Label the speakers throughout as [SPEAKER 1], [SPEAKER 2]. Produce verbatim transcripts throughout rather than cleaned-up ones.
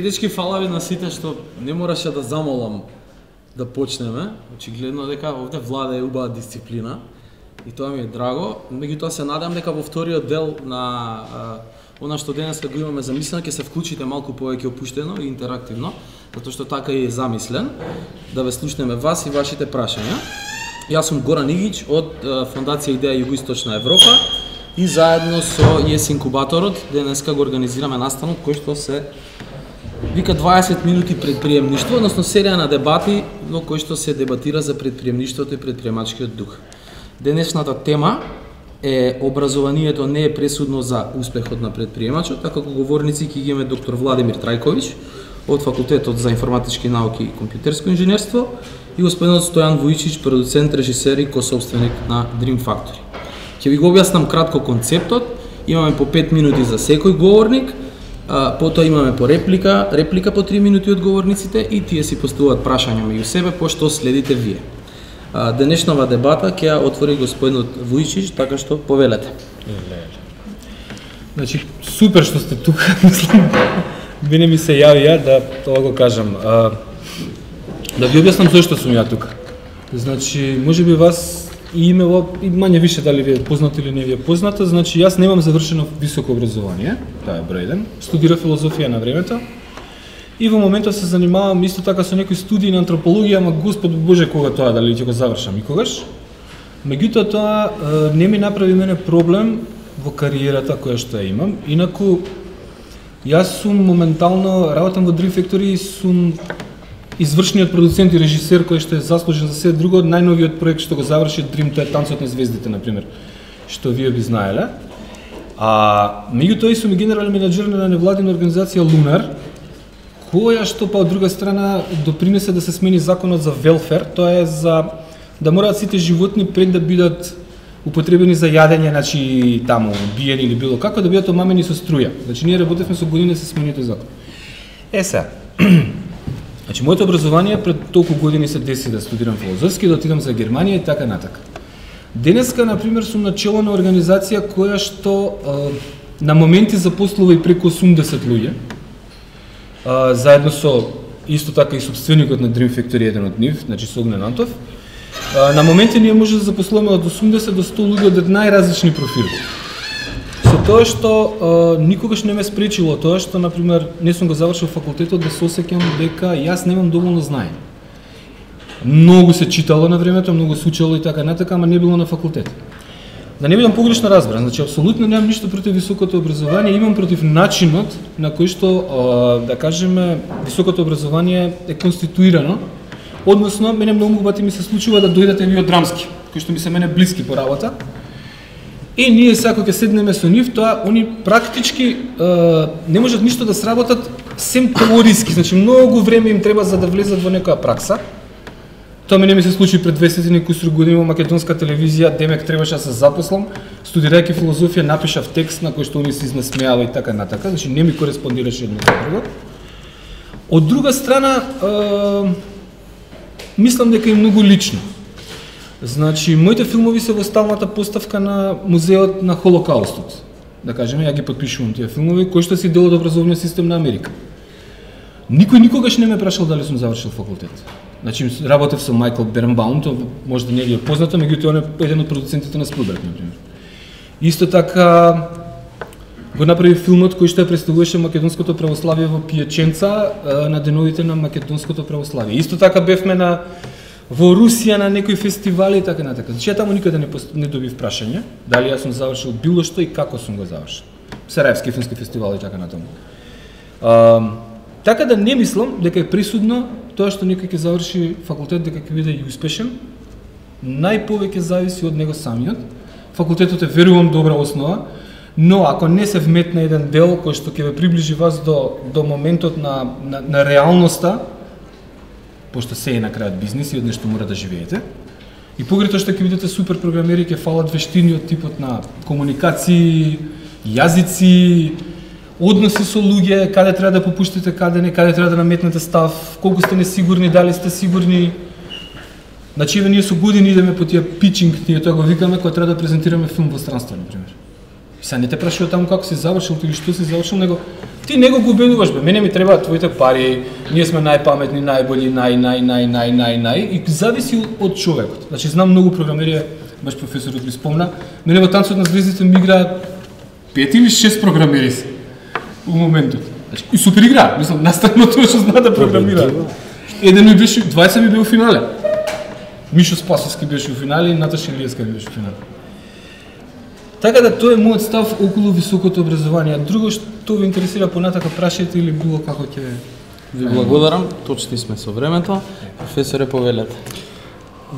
[SPEAKER 1] Дечки, фала ви на сите што не мораше да замолам да почнеме. Очигледно дека овде владее убава дисциплина и тоа ми е драго. Меѓутоа се надам дека во вториот дел на а, она што денеска го имаме замислено ќе се вклучите малку повеќе опуштено и интерактивно, затоа што така и е замислен, да ве слушнеме вас и вашите прашања. Јас сум Горан Игич од а, Фондација Идеја Југоисточна Европа и заедно со ИЕС Инкубаторот денеска го организираме настанот кој што се вика дваесет минути предприемништво, односно серија на дебати во кој што се дебатира за предприемништвото и предприемачкиот дух. Денешната тема е образованието не е пресудно за успехот на предприемачот, а како говорници ќе ги имаме доктор Владимир Трајковиќ од Факултетот за информатички науки и компјутерско инженерство и господинот Стојан Вујчич, продуцент, режисер и кособственик на Dream Factory. Ќе ви го објаснам кратко концептот. Имаме по пет минути за секој говорник. А, потоа имаме по реплика, реплика по три минути од говорниците и тие си поставуваат прашања меѓу себе, пошто следите вие. А, денешнава дебата ќе ја отвори господинот Вујчич, така што повелете.
[SPEAKER 2] Значи, супер што сте тука, мислам, мене ми се јавија да тоа го кажам. А, да ви објаснам зошто сум ја тука. Значи, можеби вас и имело, и мање више дали ви е познато или не ви е познато, значи јас немам завршено високо образование, тоа е број еден, студирав филозофија на времето и во моментот се занимавам исто така со некои студии на антропологија, ама Господ Боже кога тоа дали ќе го завршам никогаш. Меѓутоа тоа не ми направи мене проблем во кариерата која што ја имам, инаку јас сум моментално работам во Dream Factory и сум извршниот продуцент и режисер кој што е заслужен за се друго, најновиот проект што го заврши Dream, тоа е Танцот на звездите, например, што вие би знаеле. А меѓутоа и сум генерален менаџер на невладина организација Лунар, која што па од друга страна допринесе да се смени законот за велфер, тоа е за да мораат сите животни пред да бидат употребени за јадење, значи таму биени или било како, да бидат омамени со струја. Значи ние работевме со години да се смени тој закон. Е сега, значи, моето образование пред толку години се деси да студирам филозофски, да отидам за Германија и така натака. Денеска, например, сум на чело на организација која што а, на моменти запослува и преку осумдесет луѓе, а, заедно со исто така и собственикот на Dream Factory, еден од нив, значи со Огнен Антов. А, на моменти ние може да запослуваме од осумдесет до сто луѓе од најразлични профили. Со тоа што а, никогаш не ме спречило тоа што, например, не сум го завршил факултетот, да се осеќам дека јас немам доволно знаење. Многу се читало на времето, многу се учело и така натака, ама не било на факултет. Да не бидам погрешно разбран, значи апсолутно немам ништо против високото образование, имам против начинот на кој што, а, да кажеме, високото образование е конституирано. Односно, мене многу пати ми се случува да дојдете ви од драмски, кои што ми се мене блиски по работа. И ние сега кога ќе седнеме со нив, тоа они практички е, не можат ништо да сработат сем теориски, значи многу време им треба за да влезат во некоја пракса. Тоа мене ми се случи пред двесет и некусур години во македонска телевизија, демек требаше да се запослам, студирајќи филозофија напишав текст на кој што они се изнасмеава и така натака, значи не ми кореспондираше едно со друго. Од друга страна, е, мислам дека е многу лично. Значи, моите филмови се во сталната поставка на музеот на Холокаустот. Да кажеме, ја ги подпишувам тие филмови, кои што си дел од образовниот систем на Америка. Никој никогаш не ме прашал дали сум завршил факултет. Значи, работев со Майкл Бернбаум, тоа може да не ви е познато, меѓутоа он е еден од продуцентите на Спилберг, например. Исто така го направи филмот кој што ја представуваше македонското православие во Пијаченца на деновите на македонското православие. Исто така бевме на во Русија на некои фестивали и така натака. Значи, ја таму никаде не, пост... не добив прашање дали јас сум завршил било што и како сум го завршил. Сараевски филмски фестивал и така натаму. А, така да не мислам дека е присудно тоа што некој ќе заврши факултет дека ќе биде и успешен. Најповеќе зависи од него самиот. Факултетот е, верувам, добра основа, но ако не се вметне еден дел кој што ќе ве приближи вас до, до моментот на, на, на реалноста, пошто се е на крајот бизнис и од нешто мора да живеете. И погрето што ќе бидете супер програмери, ќе фалат вештини од типот на комуникации, јазици, односи со луѓе, каде треба да попуштите, каде не, каде треба да наметнете став, колку сте несигурни, дали сте сигурни. Значи, ние со години идеме по тие питчинг, ние тоа го викаме, кога треба да презентираме филм во странство, например. Са не те прашува таму како си завршил или што си завршил, него ти него го убедуваш, бе, мене ми требаат твоите пари, ние сме најпаметни, најболи, нај, нај, нај, нај, нај, нај, и зависи од човекот. Значи, знам многу програмери, баш професорот ми спомна, мене во Танцот на звездите ми играат пет или шест програмери се у моментот. Значи, и супер игра, мислам, наставно тоа што знаат да програмираат. Еден ми беше, двајца ми бе у финале. Мишо Спасовски беше у финале и Наташа Илиевска ми беше у финале. Така да тоа е мојот став околу високото образование. Друго што ви интересира понатака, прашајте или било како ќе...
[SPEAKER 1] Ви благодарам, точни сме со времето. Професоре, повелете.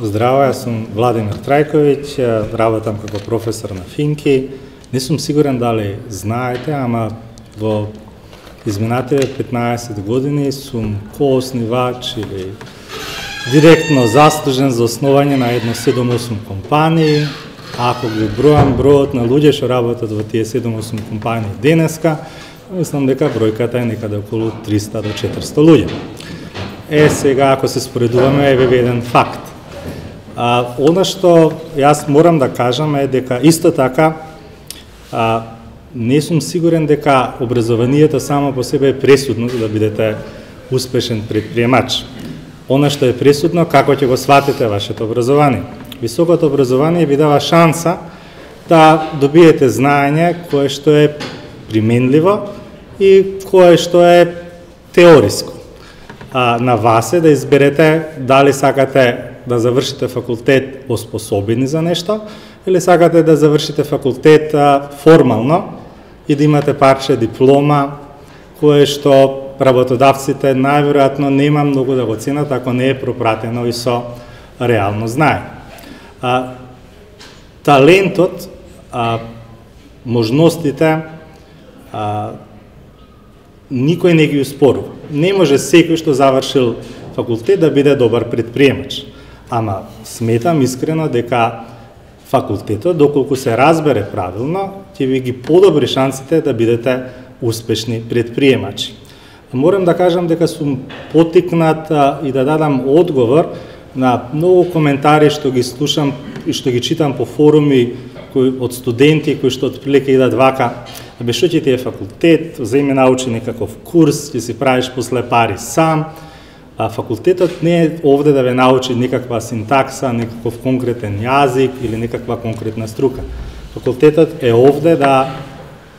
[SPEAKER 3] Здраво, јас сум Владимир Трајковиќ, работам како професор на Финки. Не сум сигурен дали знаете, ама во изминативе петнаесет години сум кооснивач или директно заслужен за основање на едно седум-осум компании. Ако ги бројам бројот на луѓе што работат во тие седум-осум компании денеска, мислам дека бројката е некаде околу триста до четиристо луѓе. Е, сега, ако се споредуваме, еве еден факт. А, она што јас морам да кажам е дека исто така а, не сум сигурен дека образованието само по себе е пресудно за да бидете успешен предприемач. Она што е пресудно, како ќе го сватите вашето образование. Високото образование ви дава шанса да добиете знаење кое што е применливо и кое што е теориско. А, на вас е да изберете дали сакате да завршите факултет оспособени за нешто или сакате да завршите факултет а, формално и да имате парче диплома кое што работодавците најверојатно нема многу да го ценат ако не е пропратено и со реално знаење. А, талентот, а, можностите, а, никој не ги успорува. Не може секој што завршил факултет да биде добар предприемач. Ама сметам искрено дека факултетот, доколку се разбере правилно, ќе ви ги подобри шансите да бидете успешни предприемачи. Морам да кажам дека сум потикнат а, и да дадам одговор на многу коментари што ги слушам и што ги читам по форуми кои, од студенти кои што отприлика идат вака, бе што ќе ти е факултет, земи научи некаков курс, ќе си правиш после пари сам. А факултетот не е овде да ве научи некаква синтакса, некаков конкретен јазик или некаква конкретна струка. Факултетот е овде да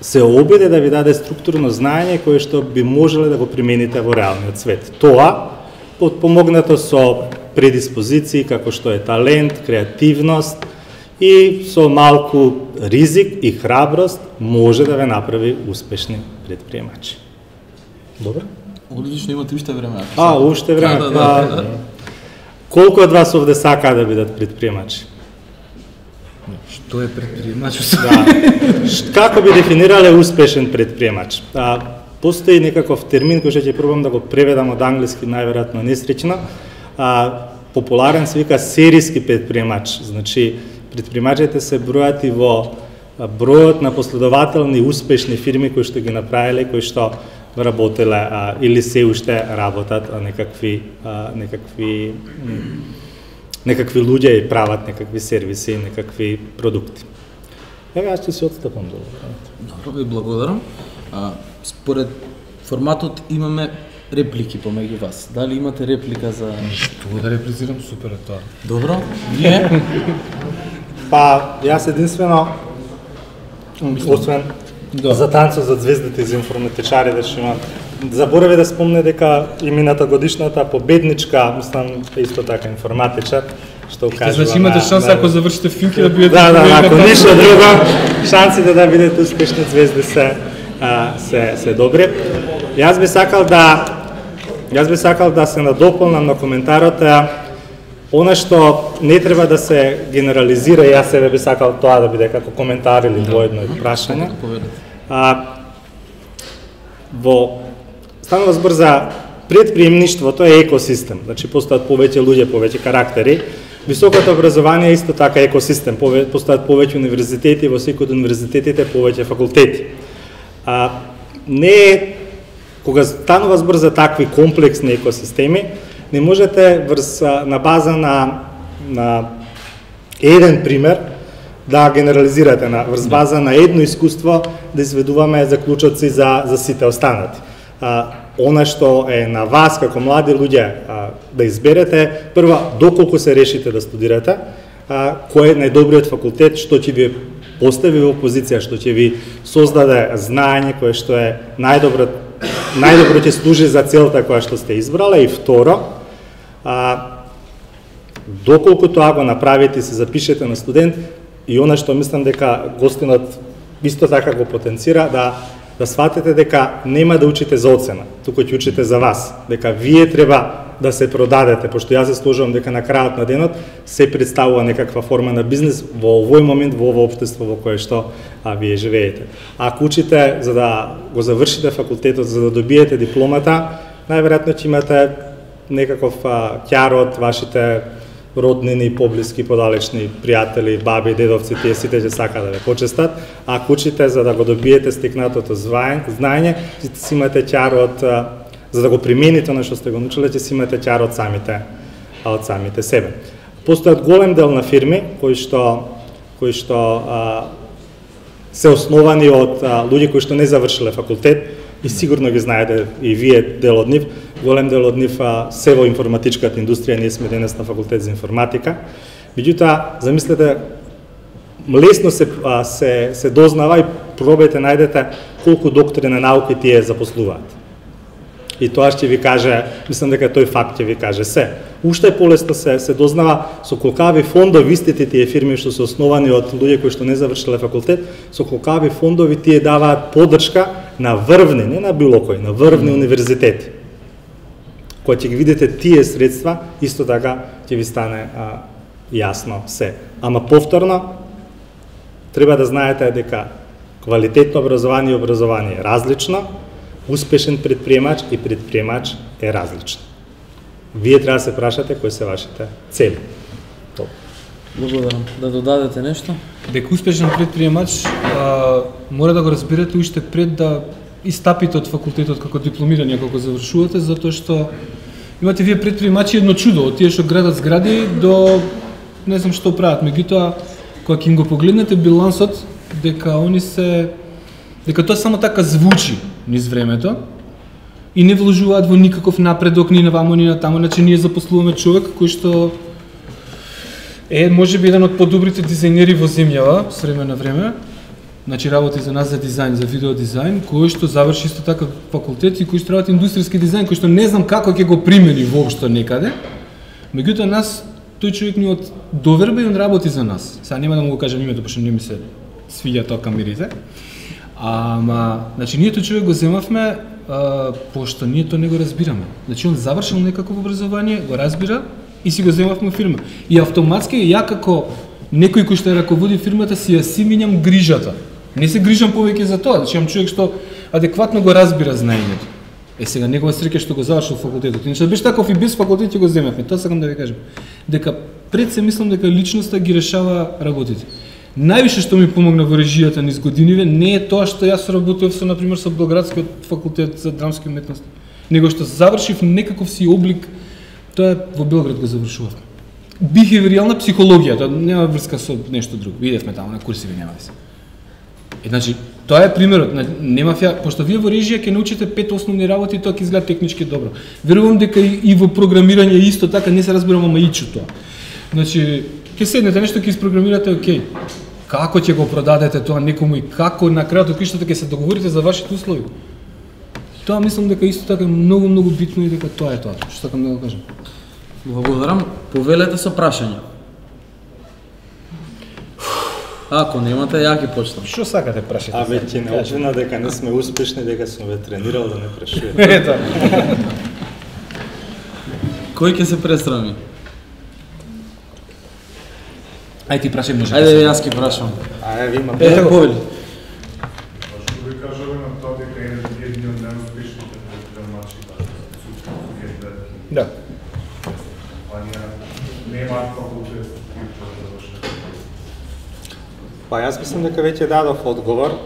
[SPEAKER 3] се обиде да ви даде структурно знаење кое што би можеле да го примените во реалниот свет. Тоа подпомогнато со предиспозиции како што е талент, креативност и со малку ризик и храброст може да ве направи успешни предприемачи. Добро?
[SPEAKER 1] Одлично, имате уште време.
[SPEAKER 3] А, уште време.
[SPEAKER 1] Да, да, да, да.
[SPEAKER 3] Колку од вас овде сакаат да бидат предприемачи?
[SPEAKER 2] Што е предприемач?
[SPEAKER 3] Да. Како би дефинирале успешен предприемач? А, постои некаков термин кој што ќе пробам да го преведам од англиски, најверојатно несречено. А, популарен се вика серијски предприемач. Значи, предприемачите се бројат и во бројот на последователни успешни фирми кои што ги направиле, кои што работеле а, или се уште работат а, некакви а, некакви некакви луѓе и прават некакви сервиси, некакви продукти. Еве, јас ќе се отстапам долу.
[SPEAKER 1] Добро, ви благодарам. А, според форматот имаме реплики помеѓу вас. Дали имате реплика за...
[SPEAKER 2] Што да реплицирам, супер е тоа.
[SPEAKER 1] Добро, вие?
[SPEAKER 3] Па, јас единствено, освен
[SPEAKER 2] Да.
[SPEAKER 3] за Танцот за звездите и за информатичарите што имам, заборави да спомне дека и мината годишната победничка, мислам, исто така информатичар, што кажува...
[SPEAKER 2] Значи имате шанса ако завршите Финки да бидете...
[SPEAKER 3] Да, да, ако ништо друго, шансите да бидете успешни звезди се, а, се, се добри. Јас би сакал да Јас би сакал да се надополнам на коментарот, она што не треба да се генерализира, јас себе би сакал тоа да биде како коментар или воедно прашање. А, во станува збор за предприемништвото е екосистем, значи постојат повеќе луѓе, повеќе карактери. Високото образование е исто така екосистем, постојат повеќе универзитети, во секој од универзитетите повеќе факултети. А, не е, кога станува збор за такви комплексни екосистеми, не можете врз, на база на, на еден пример да генерализирате на врз база на едно искуство да изведуваме заклучоци за за сите останати. А, она што е на вас како млади луѓе а, да изберете, прво доколку се решите да студирате, а, кој е најдобриот факултет што ќе ви постави во позиција, што ќе ви создаде знаење кое што е најдобро најдобро ќе служи за целта која што сте избрала. И второ, а, доколку тоа го направите и се запишете на студент, и она што мислам дека гостинот исто така го потенцира, да да сватите дека нема да учите за оцена, туку ќе учите за вас, дека вие треба да се продадете, пошто јас се сложувам дека на крајот на денот се представува некаква форма на бизнес во овој момент, во ова општество во кое што а, вие живеете. Ако учите за да го завршите факултетот, за да добиете дипломата, најверојатно ќе имате некаков ќар од вашите роднини, поблиски, подалечни пријатели, баби, дедовци, тие сите ќе сакаат да ве почестат. А ако учите за да го добиете стекнатото знаење, ќе си имате ќар од, за да го примените на што сте го научиле, ќе си имате ќар од самите, од самите себе. Постојат голем дел на фирми кои што кои што а, се основани од а, луѓе кои што не завршиле факултет, и сигурно ги знаете и вие дел од нив. Голем дел од нив а, се во информатичката индустрија, ние сме денес на факултет за информатика. Меѓутоа, замислете, лесно се, а, се, се дознава и пробајте најдете колку доктори на науки тие запослуваат. И тоа ќе ви каже, мислам дека тој факт ќе ви каже се. Уште полесно се, се дознава со колкави фондови истите тие фирми што се основани од луѓе кои што не завршиле факултет, со колкави фондови тие даваат поддршка на врвни, не на било кој, на врвни универзитети. Кога ќе ги видите тие средства, исто така ќе ви стане а, јасно се. Ама повторно, треба да знаете дека квалитетно образование и образование е различно, успешен предприемач и предприемач е различно. Вие треба да се прашате кои се вашите цели. Топ.
[SPEAKER 1] Благодарам. Да додадете нешто?
[SPEAKER 2] Дека успешен предприемач а, мора да го разберете уште пред да истапите од факултетот како дипломирани, како завршувате, затоа што имате вие предприемачи едно чудо, од тие што градат згради до не знам што прават. Меѓутоа, кога ќе им го погледнете билансот, дека они се дека тоа само така звучи низ времето и не вложуваат во никаков напредок ни на вамо ни на тамо, значи ние запослуваме човек кој што е можеби еден од подобрите дизајнери во земјава с време на време. Значи работи за нас за дизајн, за видео дизајн, кој што заврши исто така факултет и кој што работи индустријски дизајн, кој што не знам како ќе го примени воопшто некаде. Меѓутоа нас тој човек ни од доверба и он работи за нас. Сега нема да му го кажам името, пошто не ми се свиѓа тоа камерите. Ама, значи ние тој човек го земавме а, пошто ние тоа не го разбираме. Значи он завршил некакво образование, го разбира и си го земавме фирма. И автоматски ја како некој кој што ја раководи фирмата си ја си минјам грижата. Не се грижам повеќе за тоа, значи имам човек што адекватно го разбира знаењето. Е сега негова среќа што го завршил факултетот. Иначе беше таков и без факултет ќе го земавме. Тоа сакам да ви кажам. Дека пред се мислам дека личноста ги решава работите. Највише што ми помогна во режијата низ годиниве не е тоа што јас работев со на пример со Белградскиот факултет за драмски уметности, него што завршив некаков си облик, тоа во Белград го завршував. Бихевиорална психологија, тоа нема врска со нешто друго. Видевме таму на курсиви, нема врска. Е, значи, тоа е примерот, нема фја, пошто вие во режија ќе научите пет основни работи, тоа ќе изгледа технички добро. Верувам дека и, и во програмирање исто така не се разбирам, ама ичу тоа. Значи, ќе седнете нешто ќе испрограмирате, окей. Како ќе го продадете тоа некому и како на крајот од криштата ќе се договорите за вашите услови. Тоа мислам дека исто така многу многу битно и дека тоа е тоа што сакам да го кажам.
[SPEAKER 1] Благодарам. Повелете со прашања. Ако немате, ја ќе почнам.
[SPEAKER 2] Што сакате прашате?
[SPEAKER 3] А веќе не очина дека не сме успешни, дека сум ве тренирал да не прашувате.
[SPEAKER 2] Ето.
[SPEAKER 1] Кој ќе се пресрами?
[SPEAKER 2] Ајде ти прашај, може.
[SPEAKER 1] Ајде јас ќе прашам.
[SPEAKER 3] Ајде ви имате.
[SPEAKER 1] Е, повели.
[SPEAKER 4] Што ви кажуваме на тоа дека е еден од најуспешните предприемачи да
[SPEAKER 2] Да.
[SPEAKER 4] компанија немаат факултет да завршат.
[SPEAKER 3] Па јас мислам дека веќе дадов одговор.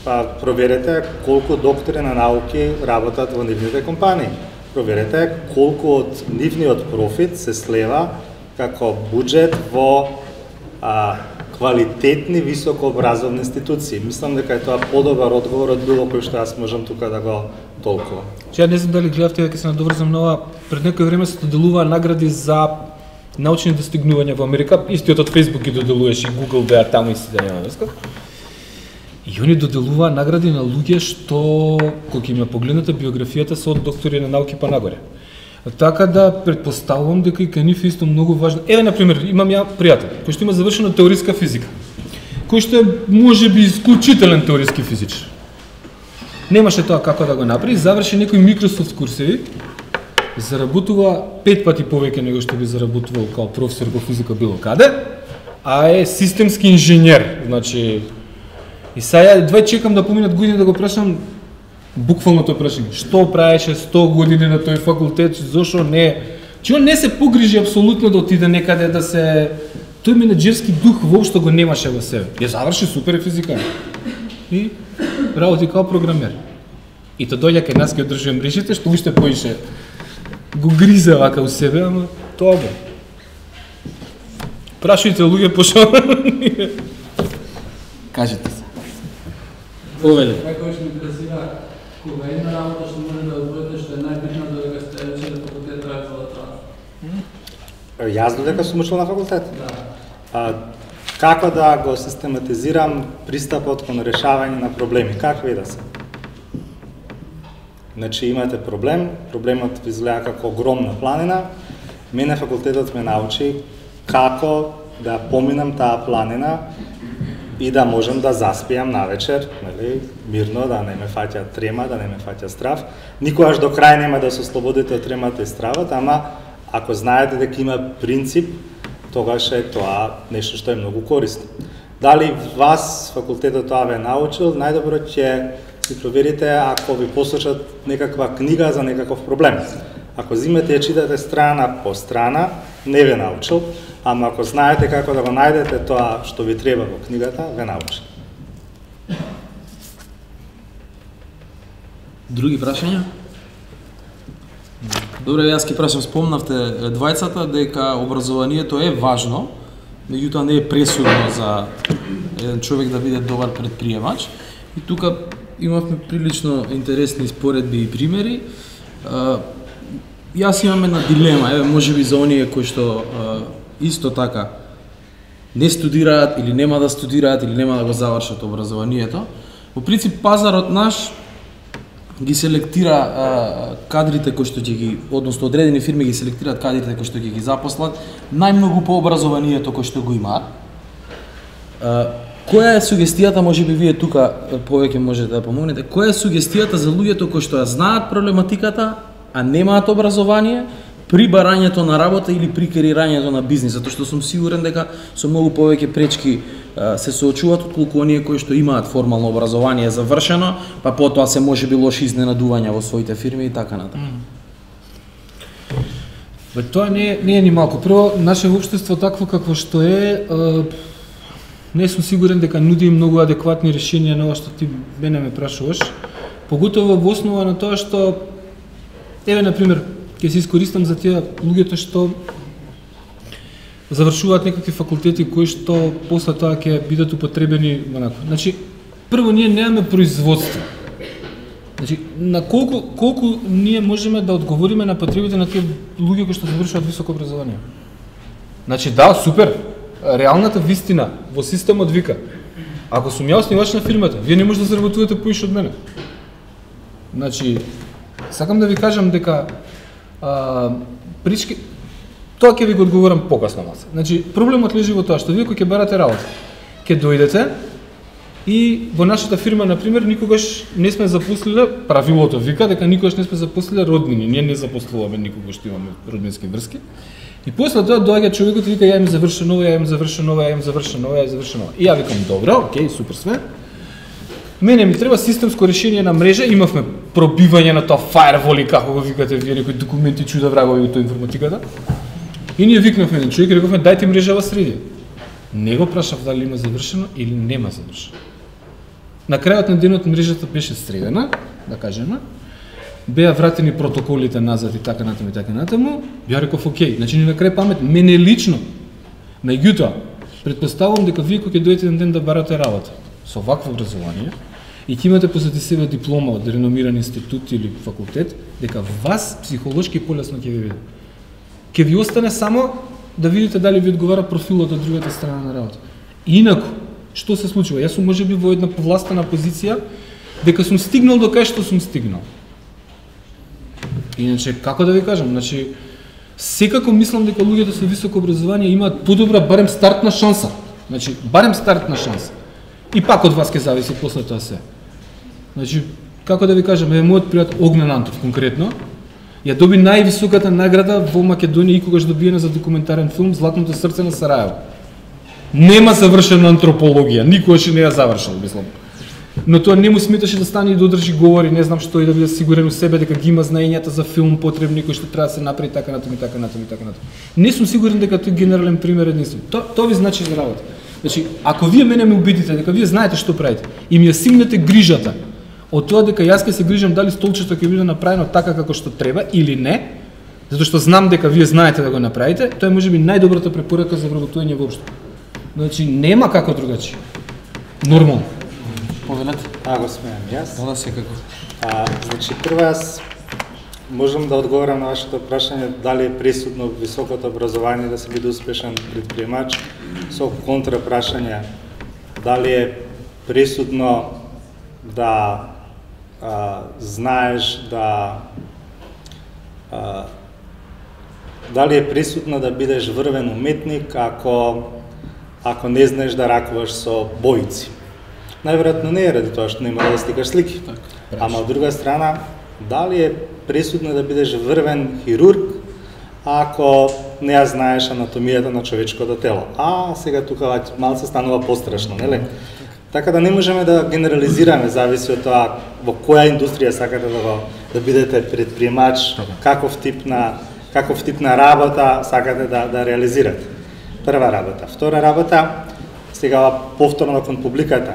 [SPEAKER 3] Па проверете колку доктори на науки работат во нивните компании. Проверете колку од нивниот профит се слева како буџет во а, квалитетни високообразовни институции. Мислам дека е тоа подобар одговор од било кој што јас можам тука да го толкувам.
[SPEAKER 2] Че ја не знам дали гледавте, дека се надоврзам на ова, пред некој време се доделуваа награди за научни достигнувања во Америка, истиот од Facebook ги доделуваше, и Google беа таму и си да нема врска. И они доделуваа награди на луѓе што, кога ќе им погледнете биографијата, се од доктори на науки па нагоре. Така да претпоставувам дека и кај нив исто многу важно. Еве на пример, имам ја пријател кој што има завршено теориска физика, кој што е можеби исклучителен теориски физичар. Немаше тоа како да го направи, заврши некои Microsoft курсеви, заработува пет пати повеќе него што би заработувал као професор по физика било каде, а е системски инженер. Значи, и сега едва чекам да поминат години да го прашам буквално тоа прашање. Што правеше сто години на тој факултет, зошто не? Че он не се погрижи апсолутно да отиде некаде да се... Тој менеджерски дух воопшто го немаше во себе. Ја заврши супер физика. И работи као програмер. И тоа дојде кај нас, ке одржува мрежите, што уште поише го гризе вака у себе, ама тоа бе. Прашујте луѓе пошо.
[SPEAKER 1] Кажете се. Овеле.
[SPEAKER 5] Како што ме интересира, кога една работа што може да одбудете, што е најбитна додека сте учели на факултет, треба да трае?
[SPEAKER 3] Јас додека сум учел на факултет?
[SPEAKER 5] Да.
[SPEAKER 3] А, како да го систематизирам пристапот кон решавање на проблеми? Какви да се? Значи имате проблем, проблемот ви изгледа како огромна планина, мене факултетот ме научи како да поминам таа планина и да можам да заспијам навечер, нели, мирно, да не ме фаќа трема, да не ме фаќа страв. Никогаш до крај нема да се ослободите од тремата и стравот, ама ако знаете дека има принцип, тогаш е тоа нешто што е многу корисно. Дали вас факултетот тоа ве научил, најдобро ќе си проверите ако ви посочат некаква книга за некаков проблем. Ако зимете ја читате страна по страна, не ве научил, ама ако знаете како да го најдете тоа што ви треба во книгата, ве научил.
[SPEAKER 1] Други прашања? Добре, јас ќе прашам, спомнавте двајцата дека образованието е важно, меѓутоа не е пресудно за еден човек да биде добар предприемач. И тука имавме прилично интересни споредби и примери. Јас имам една дилема, еве можеби за оние кои што исто така не студираат или нема да студираат или нема да го завршат образованието. Во принцип пазарот наш ги селектира а, кадрите кои што ќе ги, односно одредени фирми ги селектираат кадрите кои што ќе ги запослат најмногу по образованието кој што го имаат. А, која е сугестијата, можеби вие тука повеќе можете да помогнете, која е сугестијата за луѓето кои што ја знаат проблематиката, а немаат образование, при барањето на работа или при креирањето на бизнис, затоа што сум сигурен дека со многу повеќе пречки а, се соочуваат отколку оние кои што имаат формално образование завршено, па потоа се можеби лоши изненадувања во своите фирми и така натаму.
[SPEAKER 2] Бе, тоа не е, не е ни малку. Прво, наше општество такво какво што е, а, не сум сигурен дека нуди многу адекватни решенија на ова што ти мене ме прашуваш, поготово во основа на тоа што, еве на пример, ќе се искористам за тие луѓето што завршуваат некакви факултети кои што после тоа ќе бидат употребени онако. Значи, прво ние немаме производство. Значи, на колку колку ние можеме да одговориме на потребите на тие луѓе кои што завршуваат високо образование? Значи, да, супер. Реалната вистина во системот вика: ако сум ја основач на фирмата, вие не може да заработувате поише од мене. Значи, сакам да ви кажам дека а, прички, тоа ќе ви го одговорам покасно малце. Значи, проблемот лежи во тоа што вие кога ќе барате работа, ќе дојдете и во нашата фирма, на пример, никогаш не сме запослиле, правилото вика дека никогаш не сме запослиле роднини, ние не запослуваме никогаш што имаме роднински врски. И после тоа доаѓа човекот и вика: ја им завршено ова, ја им завршено ова, ја им завршено ова, ја завршено ова. И ја викам: добро, окей, супер све. Мене ми треба системско решение на мрежа, имавме пробивање на тоа фаервол и како го викате вие, некои документи чуда врагови од тоа информатиката. И ние викнавме еден човек и рековме: дајте мрежава среди. Не го прашав дали има завршено или нема завршено. На крајот на денот мрежата беше средена, да кажеме, беа вратени протоколите назад и така натаму и така натаму. Ја реков: окей, значи ни на крај памет, мене лично. Меѓутоа, Предпоставувам дека вие кога ќе дојдете еден ден да барате работа со вакво образование и ќе имате позади себе диплома од реномиран институт или факултет, дека вас психолошки полесно ќе ви биде. Ќе ви остане само да видите дали ви одговара профилот од другата страна на работа. Инаку, што се случува? Јас сум можеби во една повластена позиција дека сум стигнал до кај што сум стигнал. Иначе, како да ви кажам, значи секако мислам дека луѓето со високо образование имаат подобра барем стартна шанса. Значи, барем стартна шанса. И пак од вас ќе зависи после тоа се. Значи, како да ви кажам, е мојот пријател Огнен Антов конкретно, ја доби највисоката награда во Македонија икогаш добиена за документарен филм Златното срце на Сараево. Нема завршена антропологија, никогаш не ја завршил, мислам. Но тоа не му сметаше да стане и да одржи говори, не знам што, и да биде сигурен у себе дека ги има знаењата за филм потребни кои што треба да се направи така натаму и така натаму и така натаму. Не сум сигурен дека тој генерален пример единствен. Тоа тоа ви значи за работа. Значи, ако вие мене ме убедите дека вие знаете што правите и ми ја симнете грижата од тоа дека јас ќе се грижам дали столчето ќе биде направено така како што треба или не, затоа што знам дека вие знаете да го направите, тоа е можеби најдобрата препорака за вработување воопшто. Значи, нема како другачи. Нормално.
[SPEAKER 1] Повелете.
[SPEAKER 3] А, го смеам јас.
[SPEAKER 1] Да, секако.
[SPEAKER 3] А, значи, прво јас можам да одговорам на вашето прашање дали е присутно високото образование да се биде успешен предприемач, со контра прашање дали е присутно да а, знаеш да а, дали е присутно да бидеш врвен уметник ако ако не знаеш да ракуваш со боици. Најверојатно не е ради тоа што нема да сликаш слики. Так, ама од друга страна, дали е присутно да бидеш врвен хирург ако не ја знаеш анатомијата на човечкото тело. А сега тука малце станува пострашно, нели? Така да не можеме да генерализираме, зависи од тоа во која индустрија сакате да го да бидете предприемач, каков тип на каков тип на работа сакате да да реализирате. Прва работа. Втора работа, сега повторно кон публиката,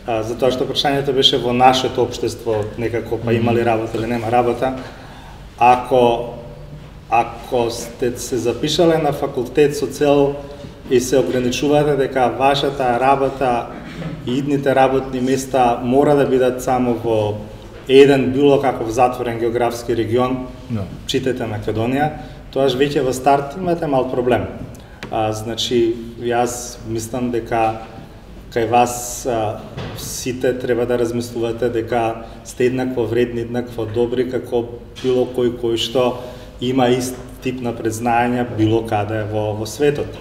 [SPEAKER 3] а, затоа што прашањето беше во нашето општество, некако па има ли работа или нема работа. Ако ако сте се запишале на факултет со цел и се ограничувате дека вашата работа и идните работни места мора да бидат само во еден било каков затворен географски регион, no. Читете Македонија, тоаш веќе во старт имате мал проблем. А, значи, јас мислам дека кај вас а, сите треба да размислувате дека сте еднакво вредни, еднакво добри, како било кој кој што има ист тип на предзнаење било каде во, во светот.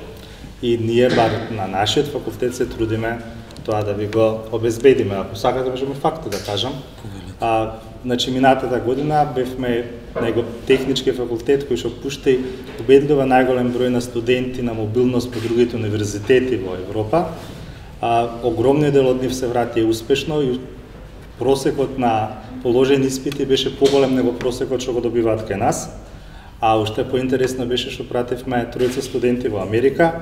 [SPEAKER 3] И ние бар на нашиот факултет се трудиме тоа да ви го обезбедиме. Ако сакате, можеме факти да кажам. А, значи, минатата година бевме на его технички факултет кој што пушти убедливо најголем број на студенти на мобилност по другите универзитети во Европа. А, огромниот дел од нив се врати успешно и просекот на положени испити беше поголем него просекот што го добиваат кај нас. А уште поинтересно беше што пративме тројца студенти во Америка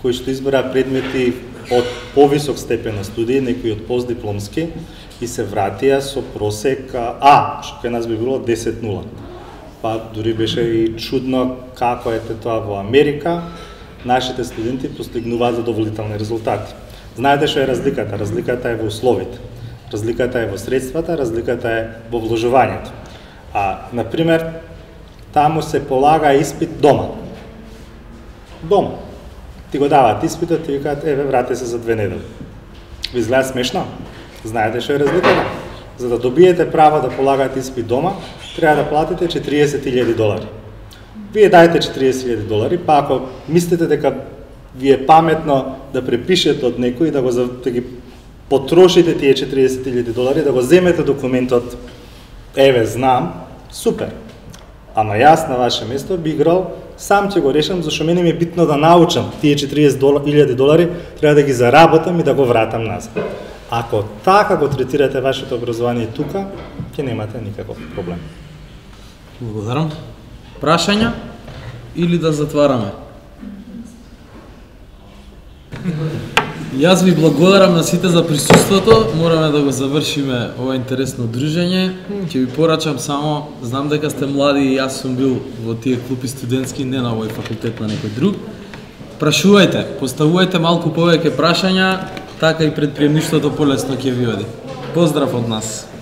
[SPEAKER 3] кои што избраа предмети од повисок степен на студии, некои од постдипломски, и се вратија со просек А, што кај нас би било десет нула. Па дури беше и чудно како е тоа во Америка, нашите студенти постигнуваат задоволителни резултати. Знаете што е разликата? Разликата е во условите. Разликата е во средствата, разликата е во вложувањето. А, например, таму се полага испит дома. Дома. Ти го даваат испитот, ти викаат, еве, врати се за две недели. Ви изгледа смешно? Знаете што е разликата? За да добиете право да полагате испит дома, треба да платите четириесет илјади долари. Вие дајте четириесет илјади долари, па ако мислите дека ви е паметно да препишете од некој, да го да ги потрошите тие четириесет илјади долари, да го земете документот, еве, знам, супер. Ама јас на ваше место би играл, сам ќе го решам, зашто мене ми е битно да научам тие четириесет илјади долари, треба да ги заработам и да го вратам назад. Ако така го третирате вашето образование тука, ќе немате никаков проблем.
[SPEAKER 1] Благодарам. Прашања или да затвараме? Јас ви благодарам на сите за присуството. Мораме да го завршиме ова интересно дружење. Ќе ви порачам само, знам дека сте млади и јас сум бил во тие клупи студентски, не на овој факултет, на некој друг. прашувајте, поставувајте малку повеќе прашања, така и предприемништвото полесно ќе ви оди. Поздрав од нас.